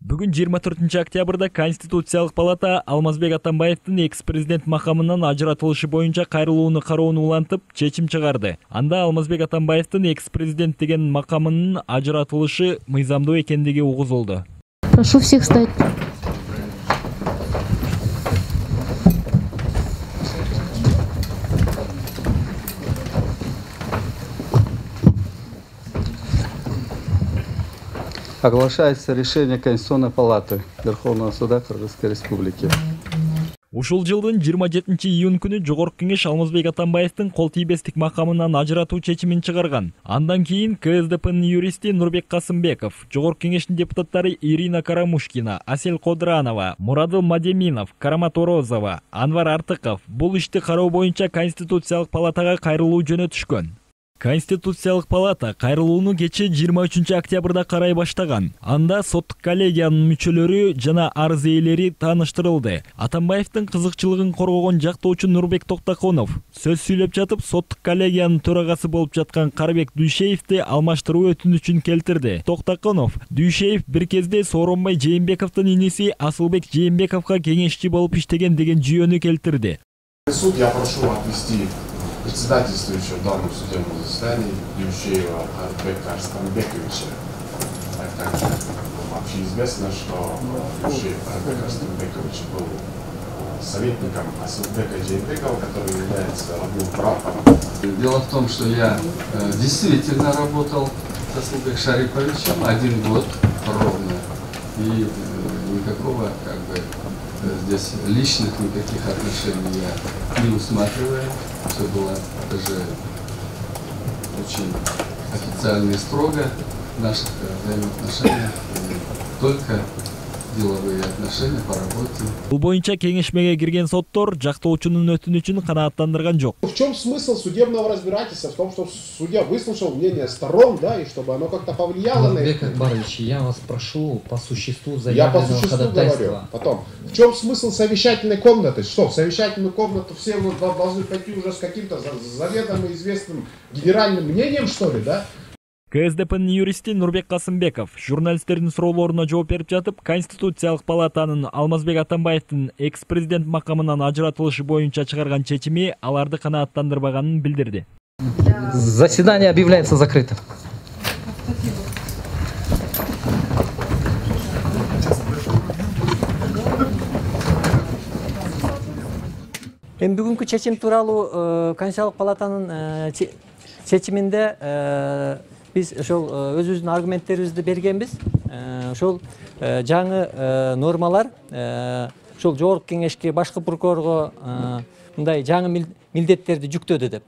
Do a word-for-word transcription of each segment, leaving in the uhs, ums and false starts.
Бүгүн жыйырма төртүнчү октябрда Конституциялык палата Алмазбек Атамбаевдин экс-президент макамынан ажыратылышы боюнча кайрылууну кароону улантып, чечим чыгарды. Анда Алмазбек Атамбаевдин экс-президент деген макамынын ажыратылышы мыйзамдуу экендиги угузулду. Прошу всех встать. Оглашается решение Конституционной палаты Верховного суда Кыргызской Республики. Ушул жылдын жыйырма жетинчи июнь күнү Жогорку Кеңеш Алмазбек Атамбаевдин кол тийбестик макамынан ажыратуу чечимин чыгарган. Андан кийин КСДПнын юристи Нурбек Касымбеков, Жогорку Кеңештин депутаттары Ирина Карамушкина, Асель Кодранова, Мурадыл Мадеминов, Карамат Орозова, Анвар Артыков бул ишти кароо боюнча Конституциялык палатага кайрылуу жөнөтүшкөн. Конституциялык палата кайрылууну кечээ жыйырма үчүнчү октябрда карай баштаган. Анда соттук коллегиянын мүчөлөрү жана арыз ээлери тааныштырылды. Атамбаевдин кызыкчылыгын коргогон жактоочу Нурбек Токтоконов сөз сүйлөп жатып, соттук коллегиянын төрагасы болуп жаткан Карабек Дүйшеевди алмаштыруу өтүнүчүн келтирди. Токтоконов Дүйшеев бир кезде Сооронбай Жээнбековдун иниси Асылбек Жээнбековго кеңешчи болуп иштеген деген жүйөнү келтирди. Суд я прошу отвести председательствующего в данном судебном заседании Дюшеева Арбека Арстанбековича. Также общеизвестно, что Дюшеев Арбек Арстанбекович был советником Асылбека Жээнбекова, который является родным братом. Дело в том, что я э, действительно работал с Асылбеком Шариповичем один год ровно. И э, никакого как бы здесь личных никаких отношений я не усматриваю. Все было даже очень официально и строго в наших взаимоотношениях. Только деловые отношения по работе. Бул боюнча кеңешмеге кирген соттор жактоочунун өтүнүчүн канааттандырган жок. В чем смысл судебного разбирательства? В том, что судья выслушал мнение сторон, да, и чтобы оно как-то повлияло на их. Акбарович, я вас прошу по существу заявленного ходатайства. Я по существу говорю. Потом, в чем смысл совещательной комнаты? Что, в совещательную комнату все вот должны пойти уже с каким-то заведомо известным генеральным мнением, что ли, да? КСДПнын юристи Нурбек Касымбеков журналисттердин суроолоруна жооп берип жатып, Конституциялык палатанын Алмазбек Атамбаевдин экс-президент макамынан ажыратылышы боюнча чыгарган чечими аларды канааттандырбаганын билдирди. Заседание объявляется закрытым. Эми бүгүнкү чечим тууралуу Конституциялык палатанын чечиминде биз ошол өзүбүздүн аргументтерибизди бергенбиз. Ошол жаңы нормалар ошол Жогорку Кеңешке, башкы прокурорго мындай жаңы милдеттерди жүктөдү деп.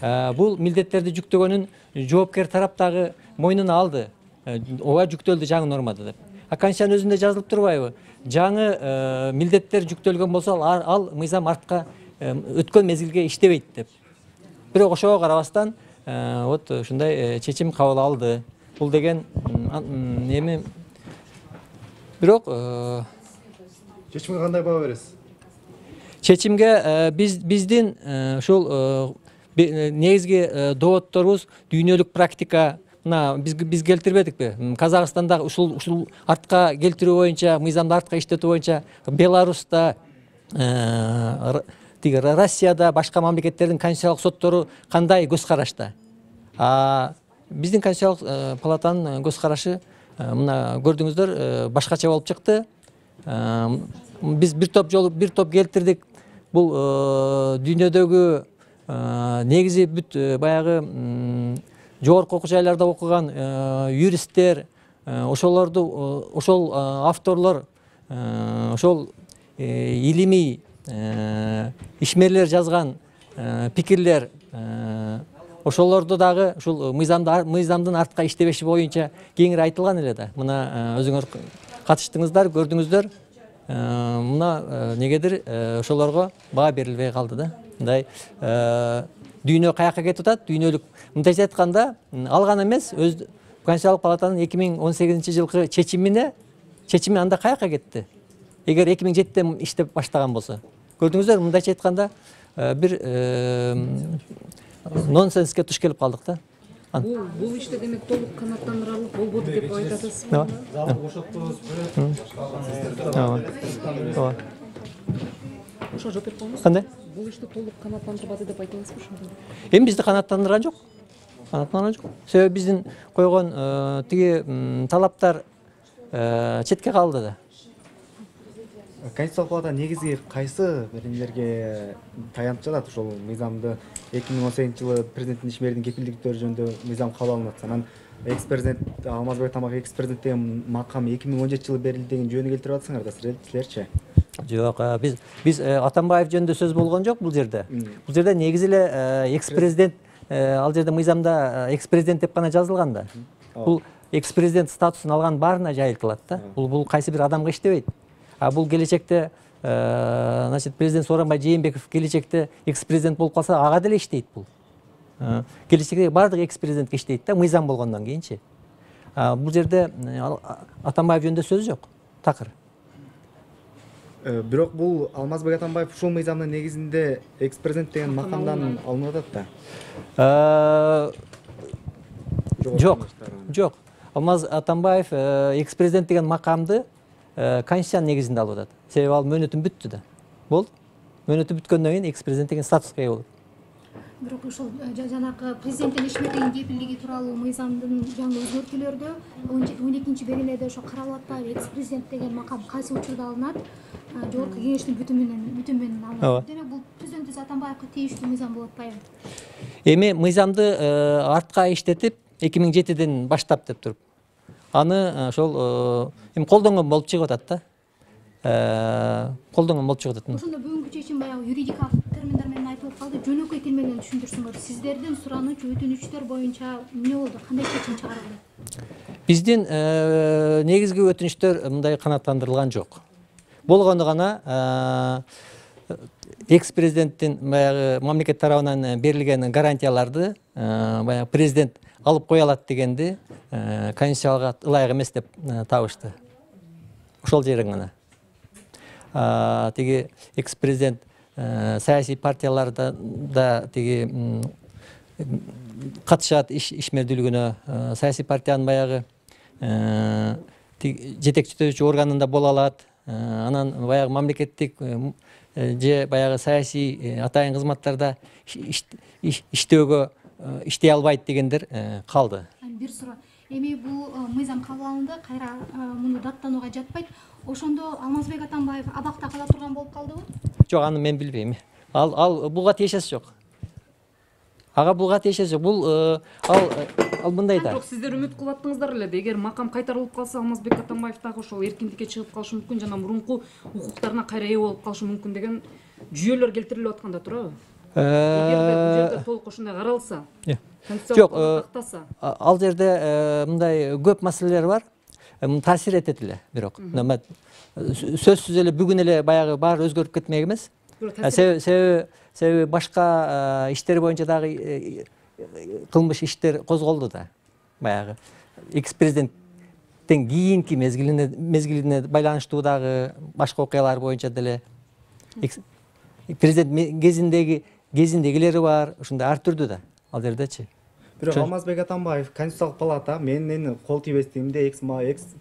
Бул милдеттерди жүктөгөнүн жоопкер тарап дагы мойнуна алды. Ого жүктөлдү жаңы нормада деп. А Конституциянын өзүндө жазылып турбайбы? Жаңы милдеттер жүктөлгөн болсо ал мыйзам артка өткөн мезгилге иштебейт деп. Бирок ошого карабастан вот ушундай чечим кабыл алды. Бул деген эми бирок чечимге кандай баа бересиз? Чечимге биз биздин ушул негизги доводторубуз дүйнөлүк практика. Мына биз биз келтирбедикпи? Казакстанда ушул ушул артка келтирүү боюнча, мыйзамды артка иштетүү боюнча Беларуста, Россияда, башка мамлекеттердин конституциялык соттору кандай көз карашта? А биздин Конституциялык палатанын көз карашы мына көрдүңүздөр башкача болуп чыкты. Биз бир топ жолу бир топ келтирдик. Бул дүйнөдөгү негизи бүт баягы жогорку окуу жайларда окуган юристтер, ошолорду ошол авторлор, ошол илимий ишмерлер жазган пикирлер, ошолорду дагы ушул мыйзамдын артка иштебеши боюнча кеңири айтылган эле да. Мына өзүңөр катыштыңыздар, көрдүңүздөр. Мына негедир ошолорго баа берилбей калды да. Мындай дүйнө каяка кетип атат? Дүйнөлүк мындайча айтканда ал гана эмес, өз Конституциялык палатанын эки миң он сегизинчи жылкы чечимине чечими анда каяка кетти? Эгер эки миң жетиде иштеп баштаган болсо. Көрдүңүздөр, мындайча айтканда бир нонсенске туш келип калдык да. Бул бул иште демек толук канааттандырарлык болбоду деп айтасыз. Ооба. Залды бошоттуңуз. Ооба. Ошо жооп берип коюңуз. Кандай? Бул иште толук канааттандырбады деп айтасызбы ошондо? Эми бизди канааттандырган жок. Канааттандырган жок. Себеби биздин койгон тиги талаптар четке калды да. Конституциялык палата негизги кайсы беренелерге таянып жатат ошол мыйзамды эки миң он сегизинчи жылы президенттин ишмердин кепилдиктери жөнүндө мыйзам кабыл алынып атса, анан экс президент Алмазбек Атамбаев экс президент деген макам эки миң он жетинчи жылы берилди деген жөнү келтирип атсыңар да силерчи? Жок, биз биз Атамбаев жөнүндө сөз болгон жок бул жерде. Бул жерде негизи эле экс президент, ал жерде мыйзамда экс президент деп гана жазылган да. Бул экс президент статусун алган баарына жайылтылат да. Бул бул кайсы бир адамга иштебейт. А бул келечекте, значит, президент Сооронбай Жээнбеков келечекте экс президент болуп калса, ага деле иштейт бул. Келечекте баардык экс президентке иштейт да, мыйзам болгондон кийинчи. Бул жерде Атамбаев жөнүндө сөз жок. Такыр. Бирок бул Алмазбек Атамбаев ушул мыйзамдын негизинде экс президент деген макамдан алынып атат да. Жок, жок. Алмаз Атамбаев экс президент деген макамды Конституциянын негизинде алып атат. Себеби ал мөөнөтүн бүттү да. Болду. Мөөнөтү бүткөндөн кийин экс президент деген статуска ээ болот. Бирок ошол жанагы президенттин ишмердин кепилдиги тууралуу мыйзамдын жаңы өзгөртүүлөрдө он экинчи беренеде ошо каралып атпайбы, экс президент деген макам кайсы учурда алынат? Жогорку кеңештин бүтү менен бүтү менен алынат. Демек бул президент Атамбаевга тийиштүү мыйзам болуп атпайбы? Эми мыйзамды артка иштетип эки миң жетиден баштап деп туруп аны ошол эми колдонгон болуп чыгып атат да. Колдонгон болуп чыгып атат. Ошондо бүгүнкү чечим баягы юридикалык терминдер менен айтылып калды. Жөнөкөй тил менен түшүндүрсүңөр. Сиздердин сурануч, өтүнүчтөр боюнча эмне болду? Кандай чечим чыгарылды? Биздин негизги өтүнүчтөр мындай канааттандырылган жок. Болгону гана экс президенттин баягы мамлекет тарабынан берилген гарантияларды баягы президент алып кое алат дегенди конституцияга ылайык эмес деп табышты. Ошол жерин гана. Тиги экс президент саясий партияларда да тиги катышат ишмердүүлүгүнө, саясий партиянын баягы жетекчилөөчү органында боло алат. Анан баягы мамлекеттик же баягы саясий атайын кызматтарда иштөөгө иштей албайт дегендер калды. Бир суроо. Эми бул мыйзам кабыл алынды, кайра муну даттанууга жатпайт. Ошондо Алмазбек Атамбаев абакта кала турган болуп калдыбы? Жок, аны мен билбейм. Ал ал буга тиешеси жок. Ага буга тиешеси жок. Бул ал ал мындай да. Бирок сиздер үмүт кылып аттыңыздар эле, эгер макам кайтарылып калса, Алмазбек Атамбаев дагы ошол эркиндикке чыгып калышы мүмкүн, жана мурунку укуктарына кайра ээ болуп калышы мүмкүн деген жүйөлөр келтирилип атканда турабы? Эгерде бул жерде толук ошондой каралса, жок, ал жерде мындай көп маселелер бар. Таасир этет эле, бирок. Сөзсүз эле бүгүн эле баягы баары өзгөрүп кетмек эмес. Себеби себеби башка иштер боюнча дагы кылмыш иштер козголду да. Баягы экс президенттен кийинки мезгилине мезгилине байланыштуу дагы башка окуялар боюнча деле президент кезиндеги кезиндегилери бар, ушундай ар түрдүү да ал жердечи. Бирок Алмазбек Атамбаев Конституциялык палата менин кол тийбестигимде экс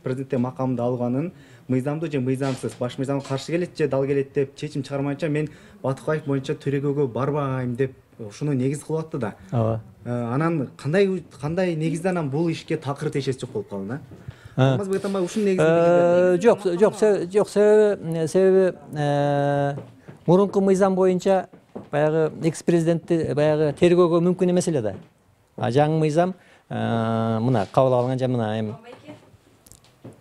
президенттин макамды алганын мыйзамдуу же мыйзамсыз, баш мыйзамга каршы келет же дал келет деп чечим чыгармайынча мен Батыкаев боюнча төрөгөөгө барбайм деп ушуну негиз кылып атты да. Ооба. Анан кандай кандай негизде анан бул ишке такыр тиешеси жок болуп калды да. Алмазбек Атамбаев ушунун негизинде жок, жок, жок, себеби себеби мурунку мыйзам боюнча баягы экс президентти баягы тергөөгө мүмкүн эмес эле да. А жаңы мыйзам мына кабыл алынган жа мына эми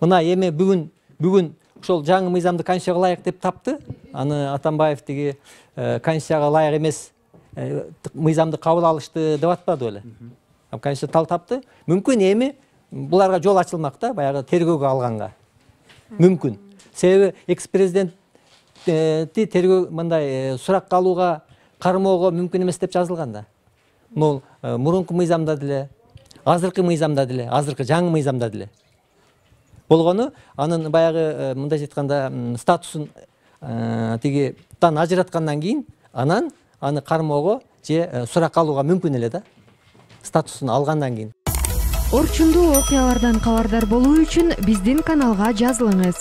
мына эми бүгүн бүгүн ошол жаңы мыйзамды конституцияга ылайык деп тапты. Аны Атамбаев тиги конституцияга ылайык эмес мыйзамды кабыл алышты деп атпады беле. Конституция тал тапты. Мүмкүн эми буларга жол ачылмак да, баягы тергөөгө алганга. Мүмкүн. Себеби экс президентти тергөө мындай суракка алууга, кармоого мүмкүн эмес деп жазылган да. Бул мурунку мыйзамда деле, азыркы мыйзамда деле, азыркы жаңы мыйзамда деле. Болгону анын баягы мындай айтканда статусун тиги тан ажыраткандан кийин анан аны кармоого же суракка алууга мүмкүн эле да. статусун алгандан кийин. Орчундуу окуялардан кабардар болуу үчүн биздин каналга жазылыңыз.